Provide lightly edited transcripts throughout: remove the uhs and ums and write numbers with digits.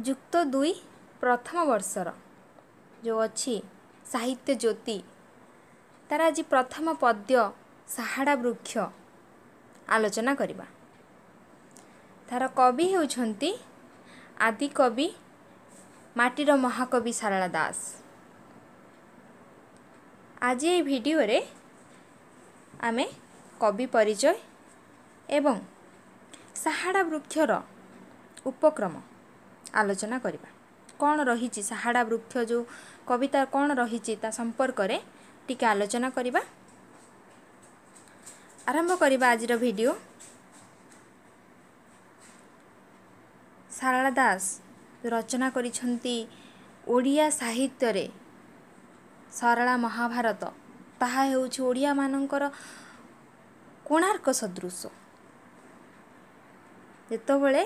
ଯୁକ୍ତ ଦୁଇ ପ୍ରଥମ ବର୍ଷର ଯେଉଁ ଅଛି ସାହିତ୍ୟ ଜ୍ୟୋତି, ତାର ଆଜି ପ୍ରଥମ ପଦ୍ୟ ସାହାଡ଼ା ବୃକ୍ଷ ଆଲୋଚନା କରିବା। ତାର କବି ହେଉଛନ୍ତି ଆଦିକବି, ମାଟିର ମହାକବି ସାରଳା ଦାସ। ଆଜି ଏହି ଭିଡ଼ିଓରେ ଆମେ କବି ପରିଚୟ ଏବଂ ସାହାଡ଼ା ବୃକ୍ଷର ଉପକ୍ରମ ଆଲୋଚନା କରିବା। କ'ଣ ରହିଛି ସାହାଡ଼ା ବୃକ୍ଷ, ଯେଉଁ କବିତା କ'ଣ ରହିଛି ତା ସମ୍ପର୍କରେ ଟିକେ ଆଲୋଚନା କରିବା। ଆରମ୍ଭ କରିବା ଆଜିର ଭିଡ଼ିଓ। ସାରଳା ଦାସ ରଚନା କରିଛନ୍ତି ଓଡ଼ିଆ ସାହିତ୍ୟରେ ସରଳା ମହାଭାରତ, ତାହା ହେଉଛି ଓଡ଼ିଆମାନଙ୍କର କୋଣାର୍କ ସଦୃଶ। ଯେତେବେଳେ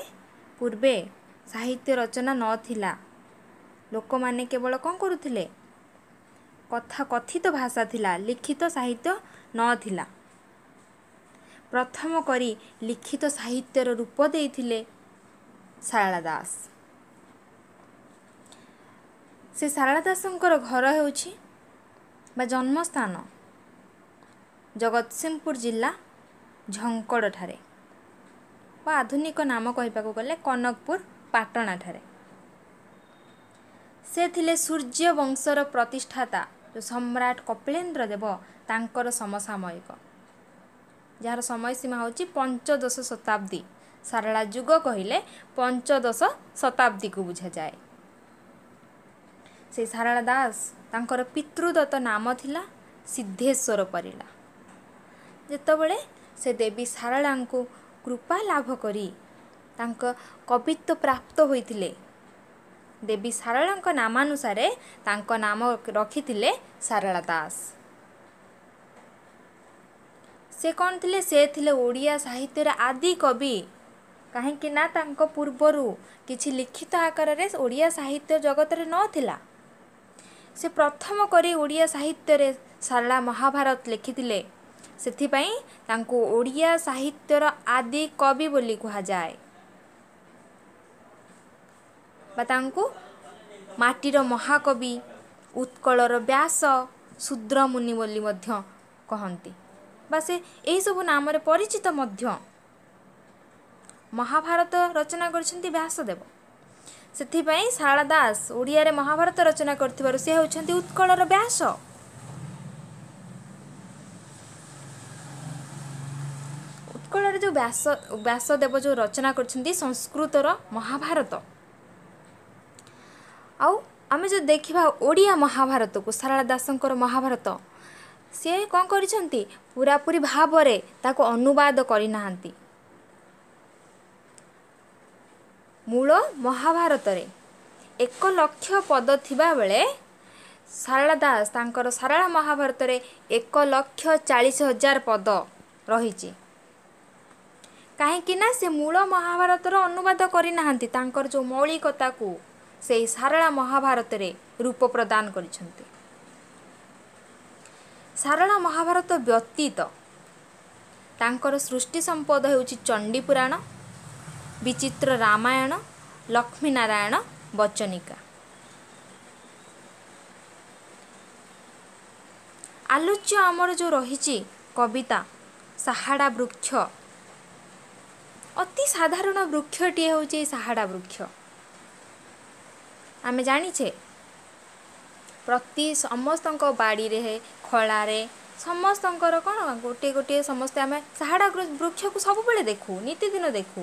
ପୂର୍ବେ ସାହିତ୍ୟ ରଚନା ନଥିଲା, ଲୋକମାନେ କେବଳ କ'ଣ କରୁଥିଲେ? କଥା କଥିତ ଭାଷା ଥିଲା, ଲିଖିତ ସାହିତ୍ୟ ନଥିଲା। ପ୍ରଥମ କରି ଲିଖିତ ସାହିତ୍ୟର ରୂପ ଦେଇଥିଲେ ସାରଳା ଦାସ। ସେ ସାରଳା ଦାସଙ୍କର ଘର ହେଉଛି ବା ଜନ୍ମସ୍ଥାନ ଜଗତସିଂହପୁର ଜିଲ୍ଲା ଝଙ୍କଡ଼ଠାରେ, ବା ଆଧୁନିକ ନାମ କହିବାକୁ ଗଲେ କନକପୁର ପାଟଣାଠାରେ। ସେ ଥିଲେ ସୂର୍ଯ୍ୟ ବଂଶର ପ୍ରତିଷ୍ଠାତା ଯେଉଁ ସମ୍ରାଟ କପିଳେନ୍ଦ୍ର ଦେବ ତାଙ୍କର ସମସାମୟିକ, ଯାହାର ସମୟ ସୀମା ହେଉଛି ପଞ୍ଚଦଶ ଶତାବ୍ଦୀ। ସାରଳା ଯୁଗ କହିଲେ ପଞ୍ଚଦଶ ଶତାବ୍ଦୀକୁ ବୁଝାଯାଏ। ସେ ସାରଳା ଦାସ, ତାଙ୍କର ପିତୃଦତ୍ତ ନାମ ଥିଲା ସିଦ୍ଧେଶ୍ୱର ପରିଡ଼ା। ଯେତେବେଳେ ସେ ଦେବୀ ସାରଳାଙ୍କୁ କୃପା ଲାଭ କରି ତାଙ୍କ କବିତ୍ୱ ପ୍ରାପ୍ତ ହୋଇଥିଲେ, ଦେବୀ ସାରଳାଙ୍କ ନାମାନୁସାରେ ତାଙ୍କ ନାମ ରଖିଥିଲେ ସାରଳା ଦାସ। ସେ କ'ଣ ଥିଲେ? ସେ ଥିଲେ ଓଡ଼ିଆ ସାହିତ୍ୟର ଆଦି କବି। କାହିଁକି ନା ତାଙ୍କ ପୂର୍ବରୁ କିଛି ଲିଖିତ ଆକାରରେ ଓଡ଼ିଆ ସାହିତ୍ୟ ଜଗତରେ ନଥିଲା। ସେ ପ୍ରଥମ କରି ଓଡ଼ିଆ ସାହିତ୍ୟରେ ସାରଳା ମହାଭାରତ ଲେଖିଥିଲେ, ସେଥିପାଇଁ ତାଙ୍କୁ ଓଡ଼ିଆ ସାହିତ୍ୟର ଆଦି କବି ବୋଲି କୁହାଯାଏ, ବା ତାଙ୍କୁ ମାଟିର ମହାକବି, ଉତ୍କଳର ବ୍ୟାସ, ଶୂଦ୍ରମୁନି ବୋଲି ମଧ୍ୟ କହନ୍ତି, ବା ସେ ଏହିସବୁ ନାମରେ ପରିଚିତ ମଧ୍ୟ। ମହାଭାରତ ରଚନା କରିଛନ୍ତି ବ୍ୟାସଦେବ, ସେଥିପାଇଁ ସାରଳା ଦାସ ଓଡ଼ିଆରେ ମହାଭାରତ ରଚନା କରିଥିବାରୁ ସେ ହେଉଛନ୍ତି ଉତ୍କଳର ବ୍ୟାସ। ଉତ୍କଳରେ ଯେଉଁ ବ୍ୟାସଦେବ ଯେଉଁ ରଚନା କରିଛନ୍ତି ସଂସ୍କୃତର ମହାଭାରତ। ଆଉ ଆମେ ଯଦି ଦେଖିବା ଓଡ଼ିଆ ମହାଭାରତକୁ, ସାରଳା ଦାସଙ୍କର ମହାଭାରତ, ସିଏ କ'ଣ କରିଛନ୍ତି? ପୁରାପୁରି ଭାବରେ ତାକୁ ଅନୁବାଦ କରିନାହାନ୍ତି। ମୂଳ ମହାଭାରତରେ 1 ଲକ୍ଷ ପଦ ଥିବାବେଳେ ସାରଳା ଦାସ ତାଙ୍କର ସାରଳା ମହାଭାରତରେ 1,40,000 ପଦ ରହିଛି। କାହିଁକି ନା ସେ ମୂଳ ମହାଭାରତର ଅନୁବାଦ କରିନାହାନ୍ତି, ତାଙ୍କର ଯେଉଁ ମୌଳିକତାକୁ ସେଇ ସାରଳା ମହାଭାରତରେ ରୂପ ପ୍ରଦାନ କରିଛନ୍ତି। ସାରଳା ମହାଭାରତ ବ୍ୟତୀତ ତାଙ୍କର ସୃଷ୍ଟି ସମ୍ପଦ ହେଉଛି ଚଣ୍ଡୀ ପୁରାଣ, ବିଚିତ୍ର ରାମାୟଣ, ଲକ୍ଷ୍ମୀନାରାୟଣ ବଚନିକା। ଆଲୋଚ୍ୟ ଆମର ଯେଉଁ ରହିଛି କବିତା ସାହାଡ଼ା ବୃକ୍ଷ, ଅତି ସାଧାରଣ ବୃକ୍ଷଟିଏ ହେଉଛି ଏଇ ସାହାଡ଼ା ବୃକ୍ଷ। ଆମେ ଜାଣିଛେ ପ୍ରତି ସମସ୍ତଙ୍କ ବାଡ଼ିରେ, ଖଳାରେ ସମସ୍ତଙ୍କର କ'ଣ ଗୋଟିଏ ଗୋଟିଏ, ସମସ୍ତେ ଆମେ ସାହାଡ଼ା ବୃକ୍ଷକୁ ସବୁବେଳେ ଦେଖୁ, ନିତିଦିନ ଦେଖୁ।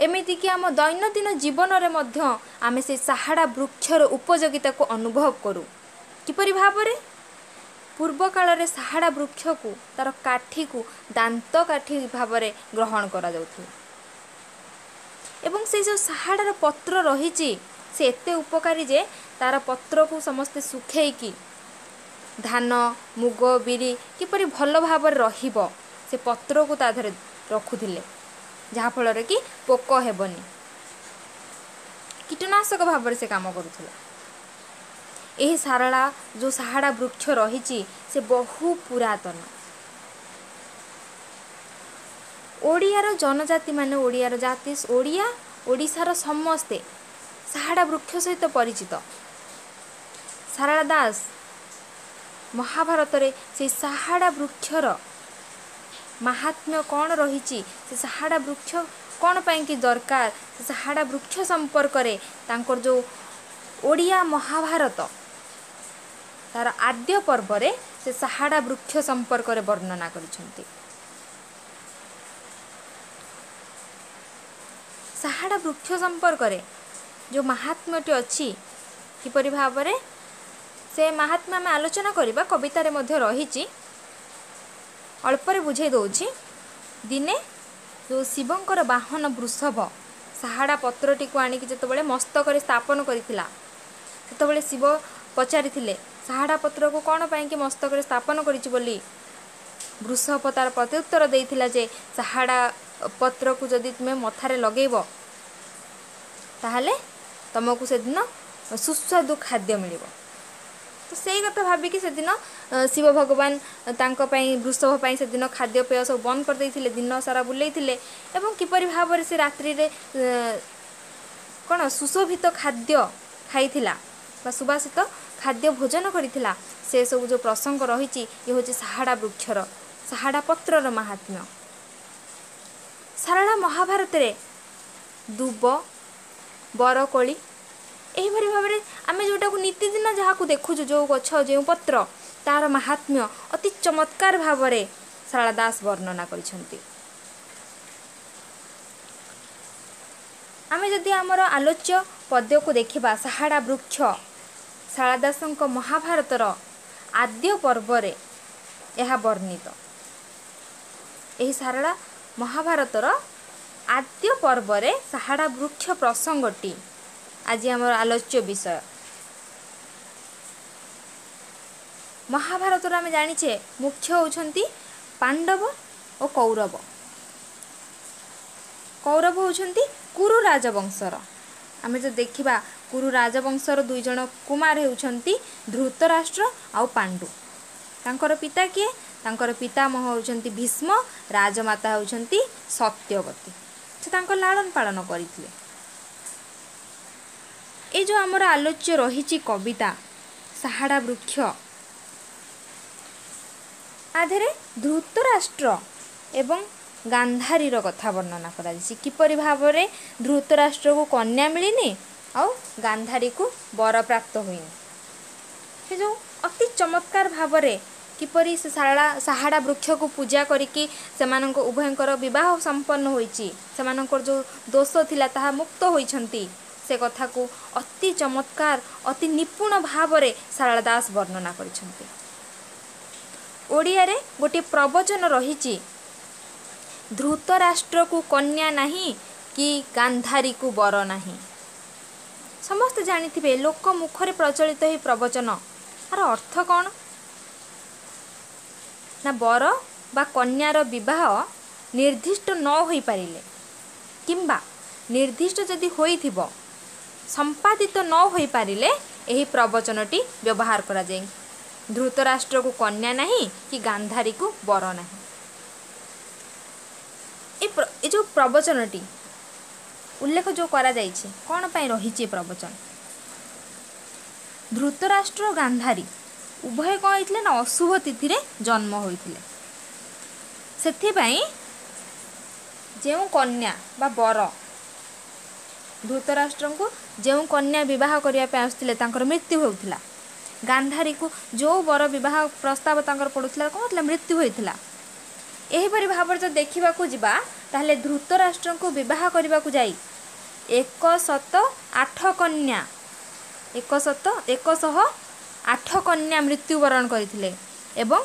ଏମିତିକି ଆମ ଦୈନନ୍ଦିନ ଜୀବନରେ ମଧ୍ୟ ଆମେ ସେ ସାହାଡ଼ା ବୃକ୍ଷର ଉପଯୋଗିତାକୁ ଅନୁଭବ କରୁ। କିପରି ଭାବରେ? ପୂର୍ବ କାଳରେ ସାହାଡ଼ା ବୃକ୍ଷକୁ, ତାର କାଠିକୁ ଦାନ୍ତ କାଠି ଭାବରେ ଗ୍ରହଣ କରାଯାଉଥିଲା, ଏବଂ ସେଇ ଯେଉଁ ସାହାଡ଼ାର ପତ୍ର ରହିଛି ସେ ଏତେ ଉପକାରୀ ଯେ ତାର ପତ୍ରକୁ ସମସ୍ତେ ଶୁଖେଇକି ଧାନ, ମୁଗ, ବିରି କିପରି ଭଲ ଭାବରେ ରହିବ ସେ ପତ୍ରକୁ ତା ଦେହରେ ରଖୁଥିଲେ, ଯାହାଫଳରେ କି ପୋକ ହେବନି। କୀଟନାଶକ ଭାବରେ ସେ କାମ କରୁଥିଲା। ଏହି ସାରଳା ଯେଉଁ ସାହାଡ଼ା ବୃକ୍ଷ ରହିଛି ସେ ବହୁ ପୁରାତନ। ଓଡ଼ିଆର ଜନଜାତି ମାନେ, ଓଡ଼ିଆର ଜାତି, ଓଡ଼ିଆ ଓଡ଼ିଶାର ସମସ୍ତେ ସାହାଡ଼ା ବୃକ୍ଷ ସହିତ ପରିଚିତ। ସାରଳା ଦାସ ମହାଭାରତରେ ସେଇ ସାହାଡ଼ା ବୃକ୍ଷର ମାହାତ୍ମ୍ୟ କ'ଣ ରହିଛି, ସେ ସାହାଡ଼ା ବୃକ୍ଷ କ'ଣ ପାଇଁକି ଦରକାର, ସେ ସାହାଡ଼ା ବୃକ୍ଷ ସମ୍ପର୍କରେ ତାଙ୍କର ଯେଉଁ ଓଡ଼ିଆ ମହାଭାରତ ତାର ଆଦ୍ୟ ପର୍ବରେ ସେ ସାହାଡ଼ା ବୃକ୍ଷ ସମ୍ପର୍କରେ ବର୍ଣ୍ଣନା କରିଛନ୍ତି। ସାହାଡ଼ା ବୃକ୍ଷ ସମ୍ପର୍କରେ ଯେଉଁ ମାହାତ୍ମ୍ୟଟି ଅଛି, କିପରି ଭାବରେ ସେ ମାହାତ୍ମ୍ୟ ଆମେ ଆଲୋଚନା କରିବା, କବିତାରେ ମଧ୍ୟ ରହିଛି, ଅଳ୍ପରେ ବୁଝେଇ ଦେଉଛି। ଦିନେ ଯେଉଁ ଶିବଙ୍କର ବାହନ ବୃଷଭ ସାହାଡ଼ା ପତ୍ରଟିକୁ ଆଣିକି ଯେତେବେଳେ ମସ୍ତକରେ ସ୍ଥାପନ କରିଥିଲା, ସେତେବେଳେ ଶିବ ପଚାରିଥିଲେ ସାହାଡ଼ା ପତ୍ରକୁ କ'ଣ ପାଇଁକି ମସ୍ତକରେ ସ୍ଥାପନ କରିଛି ବୋଲି। ବୃଷଭ ତାର ପ୍ରତ୍ୟୁତ୍ତର ଦେଇଥିଲା ଯେ ସାହାଡ଼ା ପତ୍ରକୁ ଯଦି ତୁମେ ମଥାରେ ଲଗେଇବ ତାହେଲେ ତୁମକୁ ସେଦିନ ସୁସ୍ୱାଦୁ ଖାଦ୍ୟ ମିଳିବ। ତ ସେଇ କଥା ଭାବିକି ସେଦିନ ଶିବ ଭଗବାନ ତାଙ୍କ ପାଇଁ, ବୃଷଭ ପାଇଁ ସେଦିନ ଖାଦ୍ୟପେୟ ସବୁ ବନ୍ଦ କରିଦେଇଥିଲେ, ଦିନ ସାରା ବୁଲେଇଥିଲେ ଏବଂ କିପରି ଭାବରେ ସେ ରାତ୍ରିରେ କ'ଣ ସୁଶୋଭିତ ଖାଦ୍ୟ ଖାଇଥିଲା ବା ସୁବାସିତ ଖାଦ୍ୟ ଭୋଜନ କରିଥିଲା, ସେସବୁ ଯେଉଁ ପ୍ରସଙ୍ଗ ରହିଛି, ଇଏ ହେଉଛି ସାହାଡ଼ା ବୃକ୍ଷର, ସାହାଡ଼ା ପତ୍ରର ମାହାତ୍ମ୍ୟ। ସାରଳା ମହାଭାରତରେ ଦୁବ, ବରକୋଳି ଏହିପରି ଭାବରେ ଆମେ ଯେଉଁଟାକୁ ନିତିଦିନ ଯାହାକୁ ଦେଖୁଛୁ, ଯେଉଁ ଗଛ ଯେଉଁ ପତ୍ର, ତାର ମାହାତ୍ମ୍ୟ ଅତି ଚମତ୍କାର ଭାବରେ ସାରଳା ଦାସ ବର୍ଣ୍ଣନା କରିଛନ୍ତି। ଆମେ ଯଦି ଆମର ଆଲୋଚ୍ୟ ପଦ୍ୟକୁ ଦେଖିବା, ସାହାଡ଼ା ବୃକ୍ଷ ସାରଳା ଦାସଙ୍କ ମହାଭାରତର ଆଦ୍ୟ ପର୍ବରେ ଏହା ବର୍ଣ୍ଣିତ। ଏହି ସାରଳା ମହାଭାରତର ଆଦ୍ୟ ପର୍ବରେ ସାହାଡ଼ା ବୃକ୍ଷ ପ୍ରସଙ୍ଗଟି ଆଜି ଆମର ଆଲୋଚ୍ୟ ବିଷୟ। ମହାଭାରତର ଆମେ ଜାଣିଛେ ମୁଖ୍ୟ ହେଉଛନ୍ତି ପାଣ୍ଡବ ଓ କୌରବ। କୌରବ ହେଉଛନ୍ତି କୁରୁ ରାଜବଂଶର। ଆମେ ଯଦି ଦେଖିବା କୁରୁ ରାଜବଂଶର ଦୁଇ ଜଣ କୁମାର ହେଉଛନ୍ତି ଧୃତରାଷ୍ଟ୍ର ଆଉ ପାଣ୍ଡୁ। ତାଙ୍କର ପିତା କିଏ? ତାଙ୍କର ପିତାମହ ହେଉଛନ୍ତି ଭୀଷ୍ମ, ରାଜମାତା ହେଉଛନ୍ତି ସତ୍ୟବତୀ। ସେ ତାଙ୍କ ଲାଳନ ପାଳନ କରିଥିଲେ। ଏ ଯେଉଁ ଆମର ଆଲୋଚ୍ୟ ରହିଛି କବିତା ସାହାଡ଼ା ବୃକ୍ଷ, ଆଧିରେ ଧୃତରାଷ୍ଟ୍ର ଏବଂ ଗାନ୍ଧାରୀର କଥା ବର୍ଣ୍ଣନା କରାଯାଇଛି। କିପରି ଭାବରେ ଧୃତରାଷ୍ଟ୍ରକୁ କନ୍ୟା ମିଳିନି ଆଉ ଗାନ୍ଧାରୀକୁ ବରପ୍ରାପ୍ତ ହୋଇନି, ସେ ଯେଉଁ ଅତି ଚମତ୍କାର ଭାବରେ କିପରି ସେ ସାହାଡ଼ା ବୃକ୍ଷକୁ ପୂଜା କରିକି ସେମାନଙ୍କ ଉଭୟଙ୍କର ବିବାହ ସମ୍ପନ୍ନ ହୋଇଛି, ସେମାନଙ୍କର ଯେଉଁ ଦୋଷ ଥିଲା ତାହା ମୁକ୍ତ ହୋଇଛନ୍ତି, ସେ କଥାକୁ ଅତି ଚମତ୍କାର ଅତି ନିପୁଣ ଭାବରେ ସାରଳା ଦାସ ବର୍ଣ୍ଣନା କରିଛନ୍ତି। ଓଡ଼ିଆରେ ଗୋଟିଏ ପ୍ରବଚନ ରହିଛି, ଧୃତରାଷ୍ଟ୍ରକୁ କନ୍ୟା ନାହିଁ କି ଗାନ୍ଧାରୀକୁ ବର ନାହିଁ। ସମସ୍ତେ ଜାଣିଥିବେ ଲୋକ ମୁଖରେ ପ୍ରଚଳିତ ଏହି ପ୍ରବଚନ। ଆର ଅର୍ଥ କ'ଣ ନା, ବର ବା କନ୍ୟାର ବିବାହ ନିର୍ଦ୍ଦିଷ୍ଟ ନ ହୋଇପାରିଲେ କିମ୍ବା ନିର୍ଦ୍ଦିଷ୍ଟ ଯଦି ହୋଇଥିବ ସମ୍ପାଦିତ ନ ହୋଇପାରିଲେ ଏହି ପ୍ରବଚନଟି ବ୍ୟବହାର କରାଯାଏ। ଧୃତରାଷ୍ଟ୍ରକୁ କନ୍ୟା ନାହିଁ କି ଗାନ୍ଧାରୀକୁ ବର ନାହିଁ। ଏ ଯେଉଁ ପ୍ରବଚନଟି ଉଲ୍ଲେଖ ଯେଉଁ କରାଯାଇଛି, କ'ଣ ପାଇଁ ରହିଛି ଏ ପ୍ରବଚନ? ଧୃତରାଷ୍ଟ୍ର ଗାନ୍ଧାରୀ ଉଭୟ କ'ଣ ହେଇଥିଲେ ନା ଅଶୁଭ ତିଥିରେ ଜନ୍ମ ହୋଇଥିଲେ। ସେଥିପାଇଁ ଯେଉଁ କନ୍ୟା ବା ବର, ଧୃତରାଷ୍ଟ୍ରଙ୍କୁ ଯେଉଁ କନ୍ୟା ବିବାହ କରିବା ପାଇଁ ଆସୁଥିଲେ ତାଙ୍କର ମୃତ୍ୟୁ ହେଉଥିଲା। ଗାନ୍ଧାରୀକୁ ଯେଉଁ ବର ବିବାହ ପ୍ରସ୍ତାବ ତାଙ୍କର ପଡ଼ୁଥିଲା କ'ଣ ହେଉଥିଲା? ମୃତ୍ୟୁ ହୋଇଥିଲା। ଏହିପରି ଭାବରେ ଯଦି ଦେଖିବାକୁ ଯିବା ତାହେଲେ ଧୃତରାଷ୍ଟ୍ରଙ୍କୁ ବିବାହ କରିବାକୁ ଯାଇ 108 କନ୍ୟା, 108 କନ୍ୟା ମୃତ୍ୟୁବରଣ କରିଥିଲେ ଏବଂ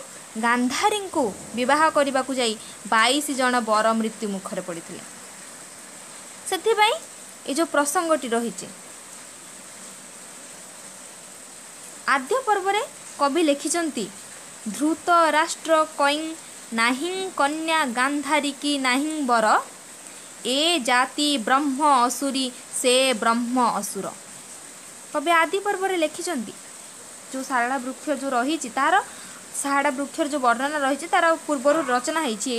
ଗାନ୍ଧାରୀଙ୍କୁ ବିବାହ କରିବାକୁ ଯାଇ 22 ଜଣ ବର ମୃତ୍ୟୁ ମୁଖରେ ପଡ଼ିଥିଲେ। ସେଥିପାଇଁ ଏ ଯେଉଁ ପ୍ରସଙ୍ଗଟି ରହିଛି, ଆଦ୍ୟ ପର୍ବରେ କବି ଲେଖିଛନ୍ତି, ଧୃତ ରାଷ୍ଟ୍ର କୈଂ ନାହିଁ କନ୍ୟା ଗାନ୍ଧାରୀ କି ନାହିଁ ବର, ଏ ଜାତି ବ୍ରହ୍ମ ଅସୁରୀ ସେ ବ୍ରହ୍ମ ଅସୁର। କବି ଆଦି ପର୍ବରେ ଲେଖିଛନ୍ତି, ଯେଉଁ ଶାରଳା ବୃକ୍ଷ ଯେଉଁ ରହିଛି ତାର ଶାରଳା ବୃକ୍ଷର ଯେଉଁ ବର୍ଣ୍ଣନା ରହିଛି ତାର ପୂର୍ବରୁ ରଚନା ହେଇଛି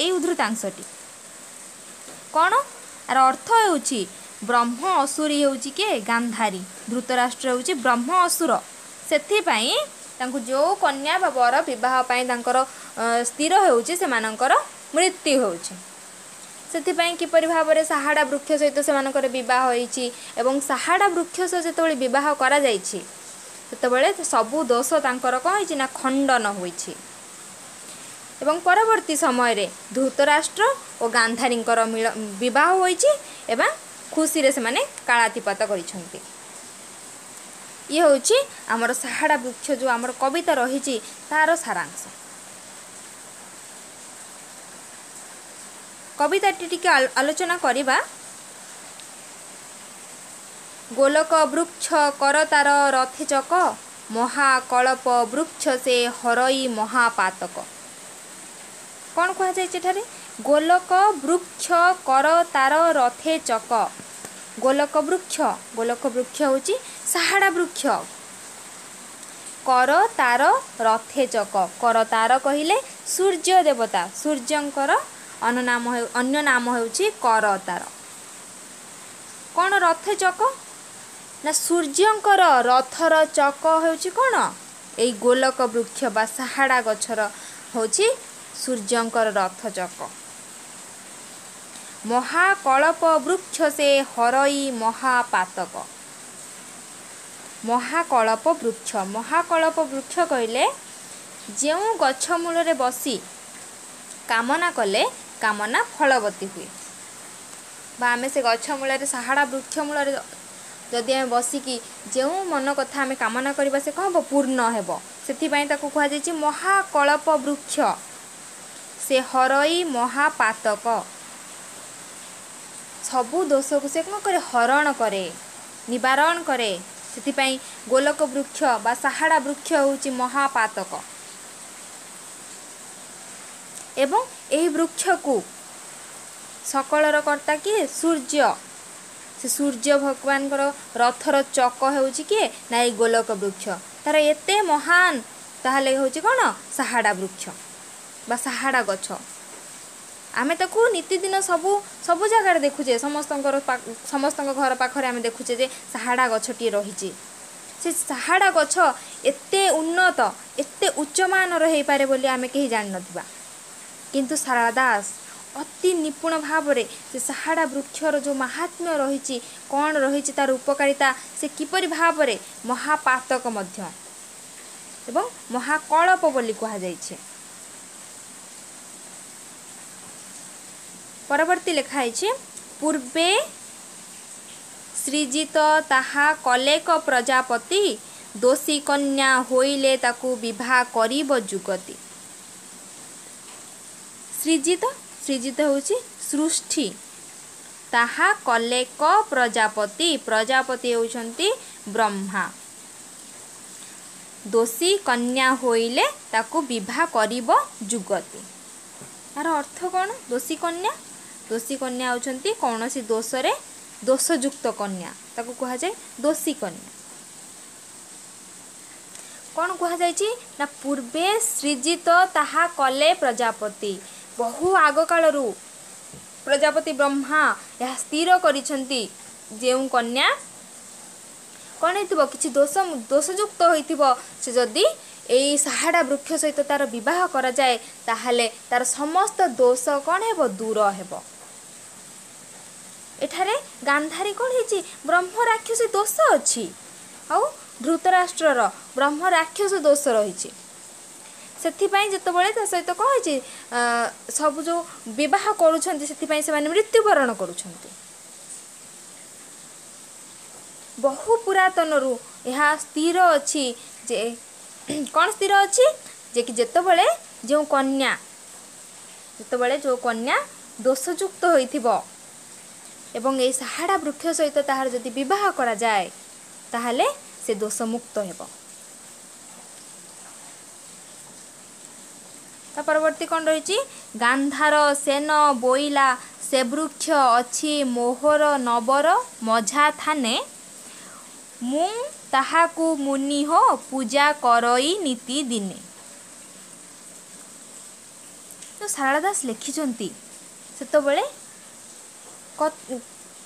ଏଇ ଉଦ୍ଧୃତାଂଶଟି। କ'ଣ ଆର ଅର୍ଥ ହେଉଛି ବ୍ରହ୍ମ ଅସୁରୀ ହେଉଛି କିଏ? ଗାନ୍ଧାରୀ। ଧୃତରାଷ୍ଟ୍ର ହେଉଛି ବ୍ରହ୍ମ ଅସୁର। ସେଥିପାଇଁ ତାଙ୍କୁ ଯେଉଁ କନ୍ୟା ବା ବର ବିବାହ ପାଇଁ ତାଙ୍କର ସ୍ଥିର ହେଉଛି, ସେମାନଙ୍କର ମୃତ୍ୟୁ ହେଉଛି। ସେଥିପାଇଁ କିପରି ଭାବରେ ସାହାଡ଼ା ବୃକ୍ଷ ସହିତ ସେମାନଙ୍କର ବିବାହ ହୋଇଛି ଏବଂ ସାହାଡ଼ା ବୃକ୍ଷ ସହ ଯେତେବେଳେ ବିବାହ କରାଯାଇଛି, ସେତେବେଳେ ସବୁ ଦୋଷ ତାଙ୍କର କ'ଣ ହେଇଛି ନା ଖଣ୍ଡନ ହୋଇଛି ଏବଂ ପରବର୍ତ୍ତୀ ସମୟରେ ଧୃତରାଷ୍ଟ୍ର ଓ ଗାନ୍ଧାରୀଙ୍କର ବିବାହ ହୋଇଛି ଏବଂ ଖୁସିରେ ସେମାନେ କାଳାତିପାତ କରିଛନ୍ତି। ଇଏ ହେଉଛି ଆମର ସାହାଡ଼ା ବୃକ୍ଷ ଯେଉଁ ଆମର କବିତା ରହିଛି, ତାର ସାରାଂଶ। କବିତାଟି ଟିକେ ଆଲୋଚନା କରିବା। ଗୋଲକ ବୃକ୍ଷ କରତାର ରଥେ ଚକ, ମହାକଳପ ବୃକ୍ଷ ସେ ହରଇ ମହାପାତକ। କ'ଣ କୁହାଯାଇଛି ଏଠାରେ? ଗୋଲକ ବୃକ୍ଷ କର ତାର ରଥେ ଚକ। ଗୋଲକ ବୃକ୍ଷ, ଗୋଲକ ବୃକ୍ଷ ହେଉଛି ସାହାଡ଼ା ବୃକ୍ଷ। କର ତାର ରଥେ ଚକ, କର ତାର କହିଲେ ସୂର୍ଯ୍ୟ ଦେବତା, ସୂର୍ଯ୍ୟଙ୍କର ଅନ୍ୟ ନାମ ହେଉଛି କରତାର। କ'ଣ ରଥ ଚକ ନା ସୂର୍ଯ୍ୟଙ୍କର ରଥର ଚକ ହେଉଛି କ'ଣ? ଏଇ ଗୋଲକ ବୃକ୍ଷ ବା ସାହାଡ଼ା ଗଛର ହେଉଛି ସୂର୍ଯ୍ୟଙ୍କର ରଥ ଚକ। ମହାକଳପ ବୃକ୍ଷ ସେ ହରଇ ମହାପାତକ। ମହାକଳପ ବୃକ୍ଷ, ମହାକଳପ ବୃକ୍ଷ କହିଲେ ଯେଉଁ ଗଛ ମୂଳରେ ବସି କାମନା କଲେ କାମନା ଫଳବତୀ ହୁଏ, ବା ଆମେ ସେ ଗଛ ମୂଳରେ, ସାହାଡ଼ା ବୃକ୍ଷ ମୂଳରେ ଯଦି ଆମେ ବସିକି ଯେଉଁ ମନ କଥା ଆମେ କାମନା କରିବା, ସେ କ'ଣ ହେବ? ପୂର୍ଣ୍ଣ ହେବ। ସେଥିପାଇଁ ତାକୁ କୁହାଯାଇଛି ମହାକଳପ ବୃକ୍ଷ ସେ ହରଇ ମହାପାତକ। ସବୁ ଦୋଷକୁ ସେ କ'ଣ କରେ? ହରଣ କରେ, ନିବାରଣ କରେ। ସେଥିପାଇଁ ଗୋଲକ ବୃକ୍ଷ ବା ସାହାଡ଼ା ବୃକ୍ଷ ହେଉଛି ମହାପାତକ। ଏବଂ ଏହି ବୃକ୍ଷକୁ ସକଳର କର୍ତ୍ତା କିଏ? ସୂର୍ଯ୍ୟ। ସେ ସୂର୍ଯ୍ୟ ଭଗବାନଙ୍କର ରଥର ଚକ ହେଉଛି କିଏ ନା ଏଇ ଗୋଲକ ବୃକ୍ଷ। ତାର ଏତେ ମହାନ ତାହେଲେ ହେଉଛି କ'ଣ ସାହାଡ଼ା ବୃକ୍ଷ ବା ସାହାଡ଼ା ଗଛ। ଆମେ ତାକୁ ନିତିଦିନ ସବୁ ସବୁ ଜାଗାରେ ଦେଖୁଛେ, ସମସ୍ତଙ୍କ ଘର ପାଖରେ ଆମେ ଦେଖୁଛେ ଯେ ସାହାଡ଼ା ଗଛଟିଏ ରହିଛି। ସେ ସାହାଡ଼ା ଗଛ ଏତେ ଉନ୍ନତ, ଏତେ ଉଚ୍ଚମାନର ହେଇପାରେ ବୋଲି ଆମେ କେହି ଜାଣିନଥିବା। କିନ୍ତୁ ସାରଳା ଦାସ ଅତି ନିପୁଣ ଭାବରେ ସେ ସାହାଡ଼ା ବୃକ୍ଷର ଯେଉଁ ମାହାତ୍ମ୍ୟ ରହିଛି, କ'ଣ ରହିଛି ତାର ଉପକାରିତା, ସେ କିପରି ଭାବରେ ମହାପାତକ ମଧ୍ୟ ଏବଂ ମହାକଳପ ବୋଲି କୁହାଯାଇଛି। ପରବର୍ତ୍ତୀ ଲେଖା ହେଇଛି, ପୂର୍ବେ ସୃଜିତ ତାହା କଲେକ ପ୍ରଜାପତି, ଦୋଷୀ କନ୍ୟା ହୋଇଲେ ତାକୁ ବିବାହ କରିବ ଯୁଗତି। ସୃଜିତ, ସୃଜିତ ହେଉଛି ସୃଷ୍ଟି। ତାହା କଲେକ ପ୍ରଜାପତି, ପ୍ରଜାପତି ହେଉଛନ୍ତି ବ୍ରହ୍ମା। ଦୋଷୀ କନ୍ୟା ହୋଇଲେ ତାକୁ ବିବାହ କରିବ ଯୁଗତି। ଏହାର ଅର୍ଥ କ'ଣ? ଦୋଷୀ କନ୍ୟା, ଦୋଷୀ କନ୍ୟା ହେଉଛନ୍ତି କୌଣସି ଦୋଷରେ ଦୋଷଯୁକ୍ତ କନ୍ୟା, ତାକୁ କୁହାଯାଏ ଦୋଷୀ କନ୍ୟା। କ'ଣ କୁହାଯାଇଛି ନା ପୂର୍ବେ ସୃଜିତ ତାହା କଲେ ପ୍ରଜାପତି। ବହୁ ଆଗକାଳରୁ ପ୍ରଜାପତି ବ୍ରହ୍ମା ଏହା ସ୍ଥିର କରିଛନ୍ତି, ଯେଉଁ କନ୍ୟା କ'ଣ ହେଇଥିବ, କିଛି ଦୋଷଯୁକ୍ତ ହୋଇଥିବ, ସେ ଯଦି ଏଇ ସାହାଡ଼ା ବୃକ୍ଷ ସହିତ ତାର ବିବାହ କରାଯାଏ, ତାହେଲେ ତାର ସମସ୍ତ ଦୋଷ କ'ଣ ହେବ? ଦୂର ହେବ। ଏଠାରେ ଗାନ୍ଧାରୀ କ'ଣ ହେଇଛି? ବ୍ରହ୍ମ ରାକ୍ଷସ ଦୋଷ ଅଛି, ଆଉ ଧୃତରାଷ୍ଟ୍ରର ବ୍ରହ୍ମ ରାକ୍ଷସ ଦୋଷ ରହିଛି। ସେଥିପାଇଁ ଯେତେବେଳେ ତା ସହିତ କ'ଣ ହେଇଛି, ସବୁ ଯେଉଁ ବିବାହ କରୁଛନ୍ତି, ସେଥିପାଇଁ ସେମାନେ ମୃତ୍ୟୁବରଣ କରୁଛନ୍ତି। ବହୁ ପୁରାତନରୁ ଏହା ସ୍ଥିର ଅଛି ଯେ କ'ଣ ସ୍ଥିର ଅଛି ଯେ କି ଯେତେବେଳେ ଯେଉଁ କନ୍ୟା, ଯେତେବେଳେ ଯେଉଁ କନ୍ୟା ଦୋଷଯୁକ୍ତ ହୋଇଥିବ ଏବଂ ଏଇ ସାହାଡ଼ା ବୃକ୍ଷ ସହିତ ତାହାର ଯଦି ବିବାହ କରାଯାଏ, ତାହେଲେ ସେ ଦୋଷମୁକ୍ତ ହେବ। ତା ପରବର୍ତ୍ତୀ କ'ଣ ରହିଛି? ଗାନ୍ଧାର ସେନ ବୋଇଲା ସେ ବୃକ୍ଷ ଅଛି ମୋହର ନବର ମଝା ଥାନେ, ମୁଁ ତାହାକୁ ମୁନି ହୋ ପୂଜା କରଇ ନୀତି ଦିନେ। ଯେଉଁ ସାରଳା ଦାସ ଲେଖିଛନ୍ତି, ସେତେବେଳେ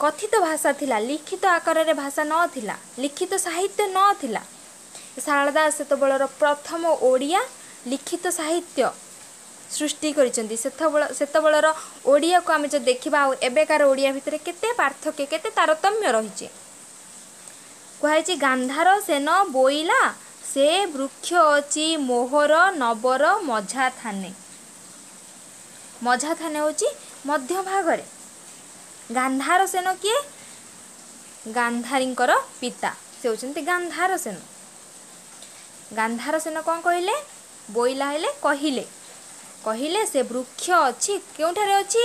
କଥିତ ଭାଷା ଥିଲା, ଲିଖିତ ଆକାରରେ ଭାଷା ନଥିଲା, ଲିଖିତ ସାହିତ୍ୟ ନଥିଲା। ସାରଳା ଦାସ ସେତେବେଳର ପ୍ରଥମ ଓଡ଼ିଆ ଲିଖିତ ସାହିତ୍ୟ ସୃଷ୍ଟି କରିଛନ୍ତି। ସେତେବେଳର ଓଡ଼ିଆକୁ ଆମେ ଯଦି ଦେଖିବା ଆଉ ଏବେକାର ଓଡ଼ିଆ ଭିତରେ କେତେ ପାର୍ଥକ୍ୟ, କେତେ ତାରତମ୍ୟ ରହିଛି। କୁହାଯାଇଛି, ଗାନ୍ଧାର ସେନ ବୋଇଲା ସେ ବୃକ୍ଷ ଅଛି ମୋହର ନବର ମଝା ଥାନେ। ମଝା ଥାନେ ହେଉଛି ମଧ୍ୟଭାଗରେ। ଗାନ୍ଧାର ସେନ କିଏ? ଗାନ୍ଧାରୀଙ୍କର ପିତା, ସେ ହେଉଛନ୍ତି ଗାନ୍ଧାର ସେନ। ଗାନ୍ଧାର ସେନ କ'ଣ କହିଲେ? ବୋଇଲା ହେଲେ କହିଲେ, କହିଲେ ସେ ବୃକ୍ଷ ଅଛି କେଉଁଠାରେ ଅଛି?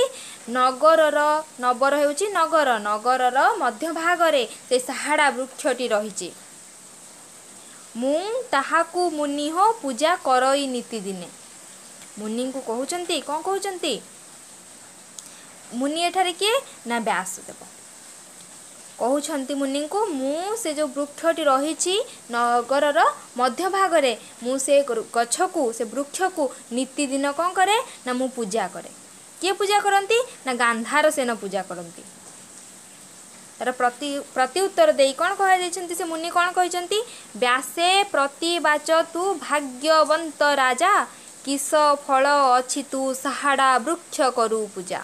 ନଗରର, ନବର ହେଉଛି ନଗର, ନଗରର ମଧ୍ୟଭାଗରେ ସେ ସାହାଡ଼ା ବୃକ୍ଷଟି ରହିଛି। ମୁଁ ତାହାକୁ ମୁନି ହୋ ପୂଜା କରଇ ନିତିଦିନେ। ମୁନିଙ୍କୁ କହୁଛନ୍ତି, କ'ଣ କହୁଛନ୍ତି? ମୁନି ଏଠାରେ କିଏ ନା ବ୍ୟାସଦେବ। କହୁଛନ୍ତି ମୁନିଙ୍କୁ, ମୁଁ ସେ ଯେଉଁ ବୃକ୍ଷଟି ରହିଛି ନଗରର ମଧ୍ୟଭାଗରେ, ମୁଁ ସେ ଗଛକୁ, ସେ ବୃକ୍ଷକୁ ନିତିଦିନ କ'ଣ କରେ ନା ମୁଁ ପୂଜା କରେ। କିଏ ପୂଜା କରନ୍ତି? ନା ଗାନ୍ଧାର ସେନ ପୂଜା କରନ୍ତି। ତାର ପ୍ରତି ଉତ୍ତର ଦେଇ କ'ଣ କୁହାଯାଇଛନ୍ତି? ସେ ମୁନି କ'ଣ କହିଛନ୍ତି? ବ୍ୟାସେ ପ୍ରତିବାଚ ତୁ ଭାଗ୍ୟବନ୍ତ ରାଜା, କିସ ଫଳ ଅଛି ତୁ ସାହାଡ଼ା ବୃକ୍ଷ କରୁ ପୂଜା।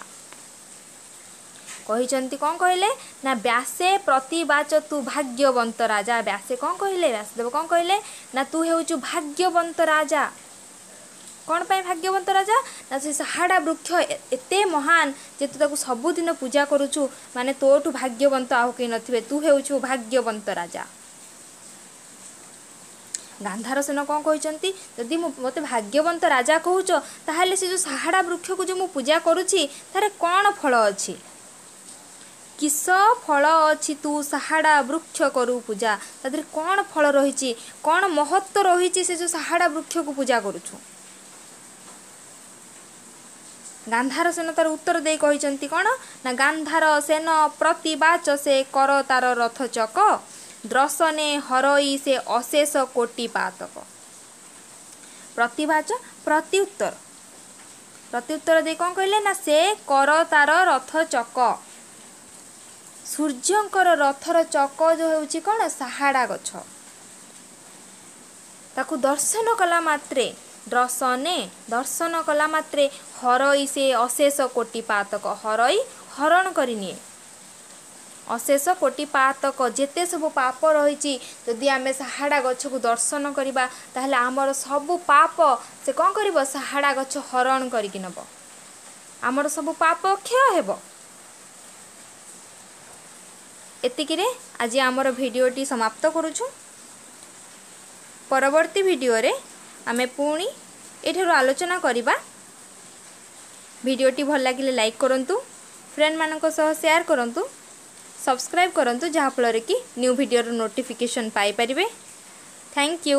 କହିଛନ୍ତି, କ'ଣ କହିଲେ ନା ବ୍ୟାସେ ପ୍ରତିବାଚ ତୁ ଭାଗ୍ୟବନ୍ତ ରାଜା। ବ୍ୟାସେ କ'ଣ କହିଲେ? ବ୍ୟାସଦେବ କ'ଣ କହିଲେ ନା ତୁ ହେଉଛୁ ଭାଗ୍ୟବନ୍ତ ରାଜା। କ'ଣ ପାଇଁ ଭାଗ୍ୟବନ୍ତ ରାଜା? ନା ସେ ସାହାଡ଼ା ବୃକ୍ଷ ଏତେ ମହାନ ଯେ ତୁ ତାକୁ ସବୁଦିନ ପୂଜା କରୁଛୁ, ମାନେ ତୋଠୁ ଭାଗ୍ୟବନ୍ତ ଆଉ କେହି ନଥିବେ, ତୁ ହେଉଛୁ ଭାଗ୍ୟବନ୍ତ ରାଜା। ଗାନ୍ଧାର ସେନ କ'ଣ କହିଛନ୍ତି? ଯଦି ମୁଁ ମୋତେ ଭାଗ୍ୟବନ୍ତ ରାଜା କହୁଛ, ତାହେଲେ ସେ ଯେଉଁ ସାହାଡ଼ା ବୃକ୍ଷକୁ ଯେଉଁ ମୁଁ ପୂଜା କରୁଛି ତାର କ'ଣ ଫଳ ଅଛି? କିସ ଫଳ ଅଛି ତୁ ସାହାଡ଼ା ବୃକ୍ଷ କରୁ ପୂଜା? ତା ଦେହରେ କ'ଣ ଫଳ ରହିଛି, କ'ଣ ମହତ୍ଵ ରହିଛି ସେ ଯେଉଁ ସାହାଡ଼ା ବୃକ୍ଷକୁ ପୂଜା କରୁଛୁ? ଗାନ୍ଧାର ସେନ ତାର ଉତ୍ତର ଦେଇ କହିଛନ୍ତି କ'ଣ ନା ଗାନ୍ଧାର ସେନ ପ୍ରତିବାଚ ସେ କର ତାର ରଥ ଚକ, ଦ୍ରଶନେ ହରଇ ସେ ଅଶେଷ କୋଟି ପାତକ। ପ୍ରତିବାଚ ପ୍ରତିଉତ୍ତର, ପ୍ରତିଉତ୍ତର ଦେଇ କ'ଣ କହିଲେ ନା ସେ କର ତାର ରଥ ଚକ। ସୂର୍ଯ୍ୟଙ୍କର ରଥର ଚକ ଯେଉଁ ହେଉଛି କ'ଣ? ସାହାଡ଼ା ଗଛ। ତାକୁ ଦର୍ଶନ କଲା ମାତ୍ରେ, ଦର୍ଶନେ ଦର୍ଶନ କଲା ମାତ୍ରେ, ହରଇ ସେ ଅଶେଷ କୋଟି ପାତକ। ହରଇ ହରଣ କରିନିଏ, ଅଶେଷ କୋଟି ପାତକ, ଯେତେ ସବୁ ପାପ ରହିଛି। ଯଦି ଆମେ ସାହାଡ଼ା ଗଛକୁ ଦର୍ଶନ କରିବା, ତାହେଲେ ଆମର ସବୁ ପାପ ସେ କ'ଣ କରିବ? ସାହାଡ଼ା ଗଛ ହରଣ କରିକି ନେବ, ଆମର ସବୁ ପାପ କ୍ଷୟ ହେବ। ଏତିକିରେ ଆଜି ଆମର ଭିଡ଼ିଓଟି ସମାପ୍ତ କରୁଛୁ। ପରବର୍ତ୍ତୀ ଭିଡ଼ିଓରେ ଆମେ ପୁଣି ଏଠାରୁ ଆଲୋଚନା କରିବା। ଭିଡ଼ିଓଟି ଭଲ ଲାଗିଲେ ଲାଇକ୍ କରନ୍ତୁ, ଫ୍ରେଣ୍ଡମାନଙ୍କ ସହ ସେୟାର କରନ୍ତୁ, ସବସ୍କ୍ରାଇବ୍ କରନ୍ତୁ, ଯାହାଫଳରେ କି ନ୍ୟୁ ଭିଡ଼ିଓର ନୋଟିଫିକେସନ୍ ପାଇପାରିବେ। Thank you.